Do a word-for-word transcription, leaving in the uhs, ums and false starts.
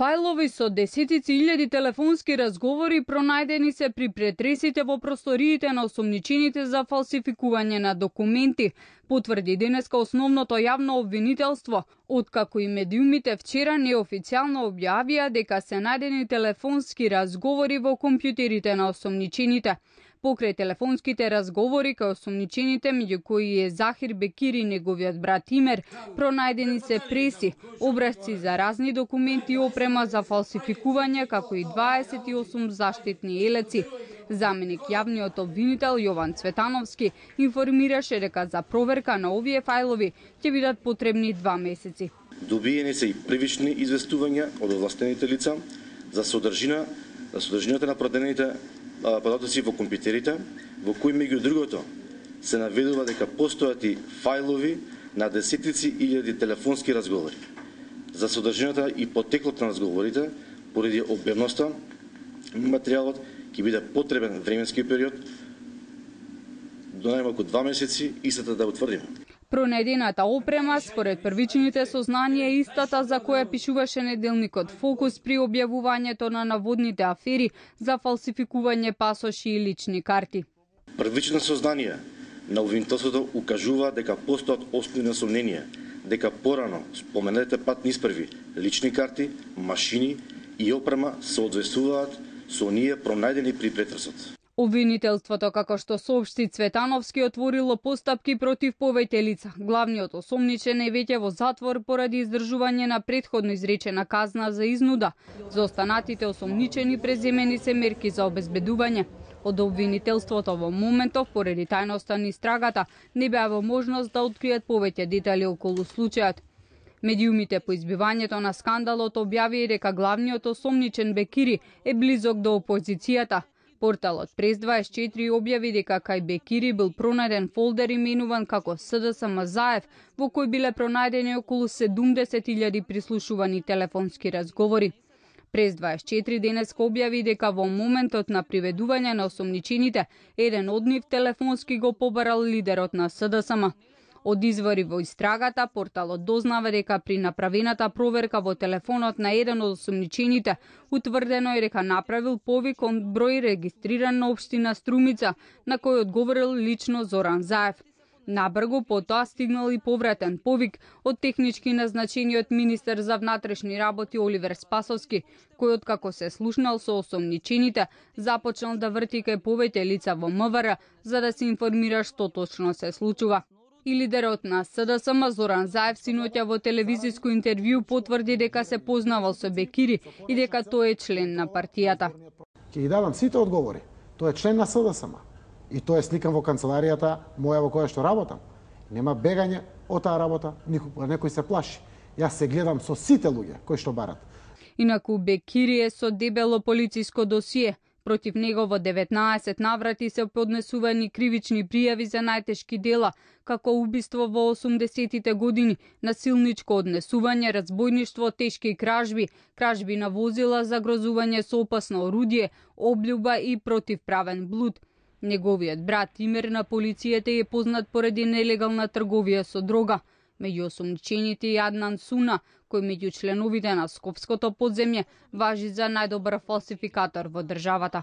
Фајлови со десетици илјади телефонски разговори пронајдени се при претресите во просториите на осомничените за фалсификување на документи, потврди денеска основното јавно обвинителство, откако и медиумите вчера неофицијално објавија дека се најдени телефонски разговори во компјутерите на осомничените. Покрај телефонските разговори кај осомничените, меѓу кои е Захир Бекири и неговиот брат Имер, пронајдени се преси, образци за разни документи и опрема за фалсификување, како и дваесет и осум заштитни елеци. Заменик јавниот обвинител Јован Цветановски информираше дека за проверка на овие фајлови ќе бидат потребни два месеци. Добиени се и првични известувања од овластените лица за содржина, за содржината на продадените податоци во компјутерите, во кои меѓу другото се наведува дека постојат и фајлови на десетици илјади телефонски разговори. За содржината и потеклот на разговорите, поради обемноста, материјалот ќе биде потребен временски период до најмалку два месеци, истата да утврдиме. Пронајдената опрема, според првичните сознанија, е истата за која пишуваше неделникот Фокус при објавувањето на наводните афери за фалсификување пасоши и лични карти. Првични сознанија на обвинителството укажува дека постојат основни сомненија дека порано споменатите патни исправи, лични карти, машини и опрема се одвесуваат со оние пронајдени при претресот. Обвинителството, како што соопшти Цветановски, отворило постапки против повеќе лица. Главниот осомничен е веќе во затвор поради издржување на претходно изречена казна за изнуда. За останатите осомничени преземени се мерки за обезбедување. Од обвинителството во моментов, поради тајноста на истрагата, не беа во можност да откријат повеќе детали околу случајот. Медиумите по избивањето на скандалот објавија дека главниот осомничен Бекири е близок до опозицијата. Порталот Прес дваесет и четири објави дека кај Бекири бил пронајден фолдер именуван како СДСМ Заев, во кој биле пронајдени околу седумдесет илјади прислушувани телефонски разговори. Прес дваесет и четири денеска објави дека во моментот на приведување на осомничените, еден од нив телефонски го побарал лидерот на СДСМ. Од извори во истрагата, порталот дознава дека при направената проверка во телефонот на еден од осомничените, утврдено е дека направил повик од број регистриран на општина Струмица, на кој одговорил лично Зоран Заев. Набрго потоа стигнал и повратен повик од технички назначениот министер за внатрешни работи Оливер Спасовски, кој откако се слушнал со осомничените, започнал да врти кај повеќе лица во МВР за да се информира што точно се случува. И лидерот на СДСМ Зоран Заев синоќа во телевизиско интервју потврди дека се познавал со Бекири и дека тој е член на партијата. Ќе ги давам сите одговори. Тој е член на СДСМ и тој е сликан во канцеларијата моја во која што работам. Нема бегање од таа работа, никога некој се плаши. Јас се гледам со сите луѓе кои што барат. Инаку Бекири е со дебело полициско досие. Против него во деветнаесет наврати се поднесувани кривични пријави за најтешки дела, како убиство во осумдесетите години, насилничко однесување, разбојништво, тешки кражби, кражби на возила, загрозување со опасно орудје, облјуба и противправен блуд. Неговиот брат Имер на полицијата е познат поради нелегална трговија со дрога. Меѓу осомничените и Аднан Суна, кој меѓу членовите на Скопското подземје важи за најдобар фалсификатор во државата.